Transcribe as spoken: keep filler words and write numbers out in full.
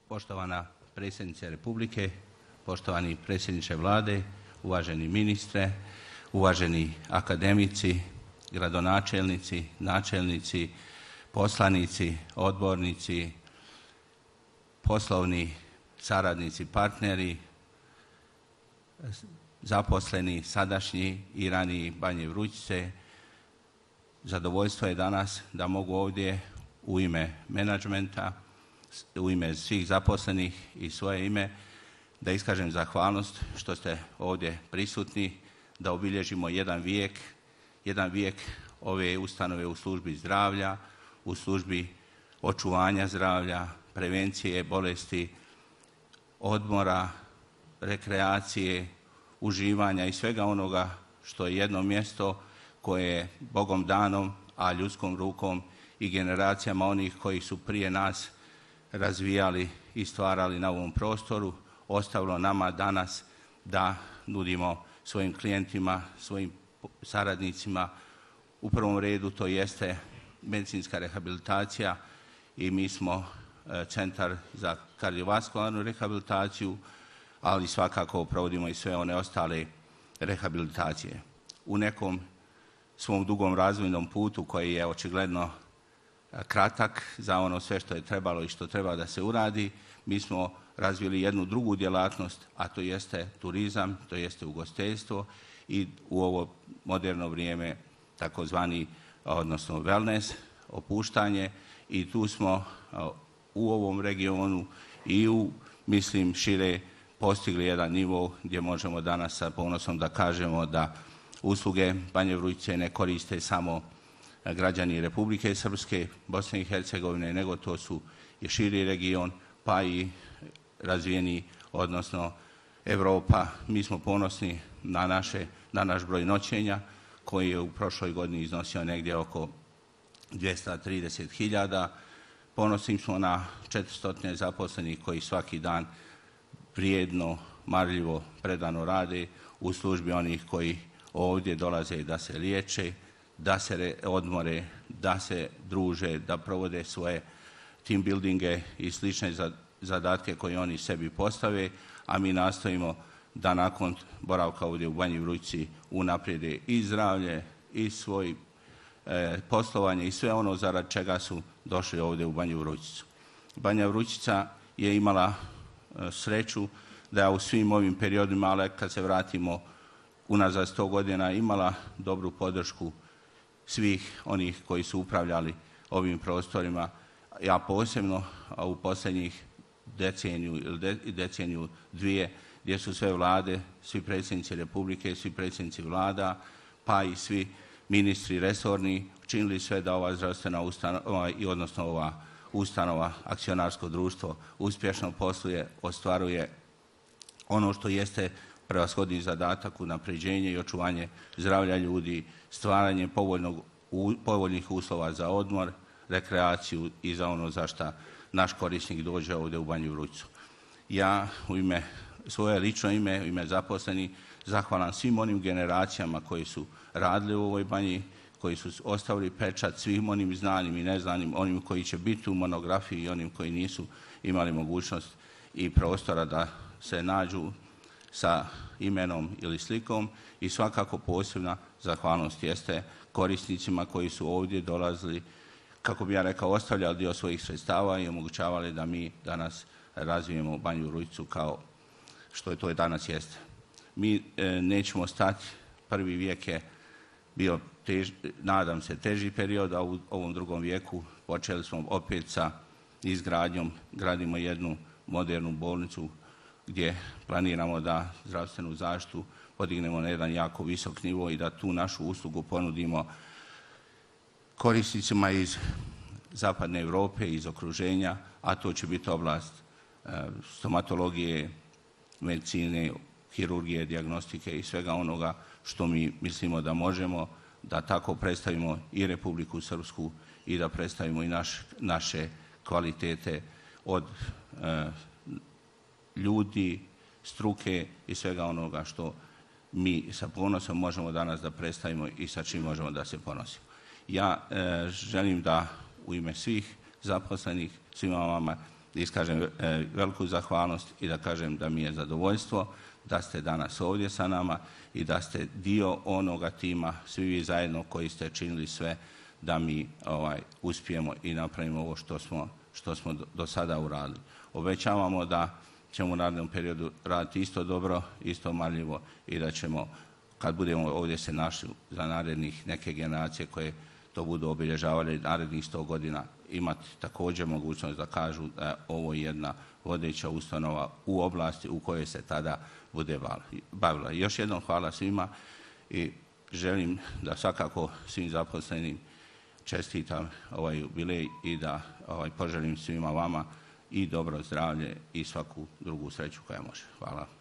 Poštovana predsjednice Republike, poštovani predsjedniče Vlade, uvaženi ministre, uvaženi akademici, gradonačelnici, načelnici, poslanici, odbornici, poslovni saradnici, partneri, zaposleni, sadašnji i raniji Banje Vrućice. Zadovoljstvo je danas da mogu ovdje u ime menadžmenta, u ime svih zaposlenih i svoje ime da iskažem zahvalnost što ste ovdje prisutni, da obilježimo jedan vijek, jedan vijek ove ustanove u službi zdravlja, u službi očuvanja zdravlja, prevencije bolesti, odmora, rekreacije, uživanja i svega onoga što je jedno mjesto koje je Bogom danom, a ljudskom rukom i generacijama onih koji su prije nas razvijali i stvarali na ovom prostoru, ostavilo nama danas da nudimo svojim klijentima, svojim saradnicima. U prvom redu to jeste medicinska rehabilitacija i mi smo centar za kardiovaskularnu rehabilitaciju, ali svakako provodimo i sve one ostale rehabilitacije. U nekom svom dugom razvojnom putu koji je očigledno kratak za ono sve što je trebalo i što treba da se uradi, mi smo razvili jednu drugu djelatnost, a to jeste turizam, to jeste ugostiteljstvo i u ovo moderno vrijeme takozvani, odnosno wellness, opuštanje, i tu smo u ovom regionu i u, mislim, šire postigli jedan nivo gdje možemo danas sa ponosom da kažemo da usluge Banje Vrućice ne koriste samo građani Republike Srpske, Bosne i Hercegovine, nego to su i širi region, pa i razvijeni, odnosno Europa. Mi smo ponosni na, naše, na naš broj noćenja koji je u prošloj godini iznosio negdje oko dvjesto trideset hiljada. Ponosni smo na četiristo zaposlenih koji svaki dan vrijedno, marljivo, predano rade u službi onih koji ovdje dolaze da se liječe, da se odmore, da se druže, da provode svoje team buildinge i slične zadatke koje oni sebi postave, a mi nastojimo da nakon boravka ovdje u Banji Vrućici unaprijede i zdravlje i svoj e, poslovanje i sve ono zarad čega su došli ovdje u Banju Vrućicu. Banja Vrućica je imala e, sreću da je u svim ovim periodima, ali kad se vratimo unazad sto godina, imala dobru podršku svih onih koji su upravljali ovim prostorima. Ja posebno a u posljednjih deceniju ili de, deceniju dvije, gdje su sve vlade, svi predsjednici Republike, svi predsjednici vlada, pa i svi ministri resorni činili sve da ova zdravstvena ustanova i odnosno ova ustanova, akcionarsko društvo, uspješno posluje, ostvaruje ono što jeste prevashodni zadatak, unapređenje i očuvanje zdravlja ljudi, stvaranje povoljnog, u, povoljnih uslova za odmor, rekreaciju i za ono za šta naš korisnik dođe ovdje u Banju Vrućicu. Ja u ime, svoje lično ime, u ime zaposleni, zahvalan svim onim generacijama koji su radili u ovoj banji, koji su ostavili pečat svim onim znanim i neznanim, onim koji će biti u monografiji i onim koji nisu imali mogućnost i prostora da se nađu sa imenom ili slikom, i svakako posebna zahvalnost jeste korisnicima koji su ovdje dolazili, kako bi ja rekao, ostavljali dio svojih sredstava i omogućavali da mi danas razvijemo Banju Vrućicu kao što je to danas jeste. Mi e, nećemo stati, prvi vijek je bio, tež, nadam se, teži period, a u ovom drugom vijeku počeli smo opet sa izgradnjom, gradimo jednu modernu bolnicu gdje planiramo da zdravstvenu zaštitu podignemo na jedan jako visok nivo i da tu našu uslugu ponudimo korisnicima iz zapadne Europe, iz okruženja, a to će biti oblast e, stomatologije, medicine, hirurgije, dijagnostike i svega onoga što mi mislimo da možemo da tako predstavimo i Republiku Srpsku i da predstavimo i naš, naše kvalitete od e, ljudi, struke i svega onoga što mi sa ponosom možemo danas da predstavimo i sa čim možemo da se ponosimo. Ja e, želim da u ime svih zaposlenih, svima vama iskažem veliku zahvalnost i da kažem da mi je zadovoljstvo da ste danas ovdje sa nama i da ste dio onoga tima, svi vi zajedno koji ste činili sve da mi ovaj, uspijemo i napravimo ovo što smo, što smo do, do sada uradili. Obećavamo da ćemo u narednom periodu raditi isto dobro, isto marljivo i da ćemo, kad budemo ovdje se našli za narednih neke generacije koje to budu obilježavali narednih sto godina, imati također mogućnost da kažu da je ovo jedna vodeća ustanova u oblasti u kojoj se tada bude bavila. Još jednom hvala svima i želim da svakako svim zaposlenim čestitam ovaj jubilej i da ovaj, poželim svima vama i dobro zdravlje i svaku drugu sreću koja može. Hvala.